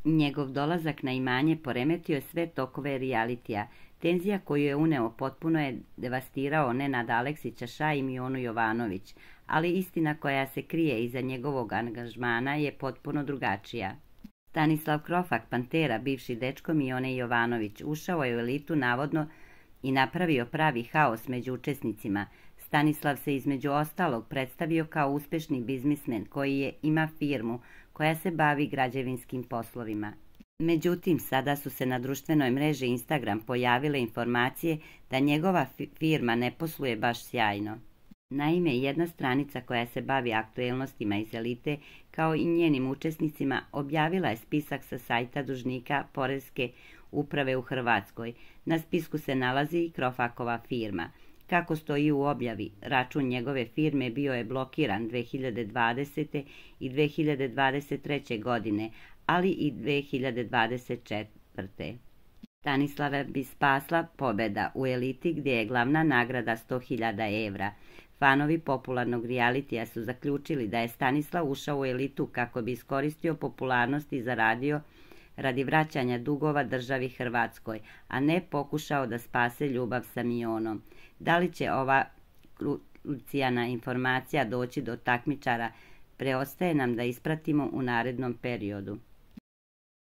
Njegov dolazak na imanje poremetio je sve tokove realitija. Tenzija koju je uneo potpuno je devastirao Nenad Aleksića Ša i Mionu Jovanović, ali istina koja se krije iza njegovog angažmana je potpuno drugačija. Stanislav Krofak, Pantera, bivši dečko Mione Jovanović, ušao je u elitu navodno i napravio pravi haos među učesnicima. Stanislav se između ostalog predstavio kao uspešni biznismen koji ima firmu koja se bavi građevinskim poslovima. Međutim, sada su se na društvenoj mreži Instagram pojavile informacije da njegova firma ne posluje baš sjajno. Naime, jedna stranica koja se bavi aktuelnostima iz elite, kao i njenim učesnicima, objavila je spisak sa sajta dužnika Poreske uprave u Hrvatskoj. Na spisku se nalazi i Krofakova firma. Kako stoji u objavi, račun njegove firme bio je blokiran 2020. i 2023. godine, ali i 2024. Stanislava bi spasla pobeda u eliti gdje je glavna nagrada 100.000 evra. Fanovi popularnog realitija su zaključili da je Stanislav ušao u elitu kako bi iskoristio popularnost i zaradio radi vraćanja dugova državi Hrvatskoj, a ne pokušao da spase ljubav sa Mionom. Da li će ova krucijalna informacija doći do takmičara, preostaje nam da ispratimo u narednom periodu.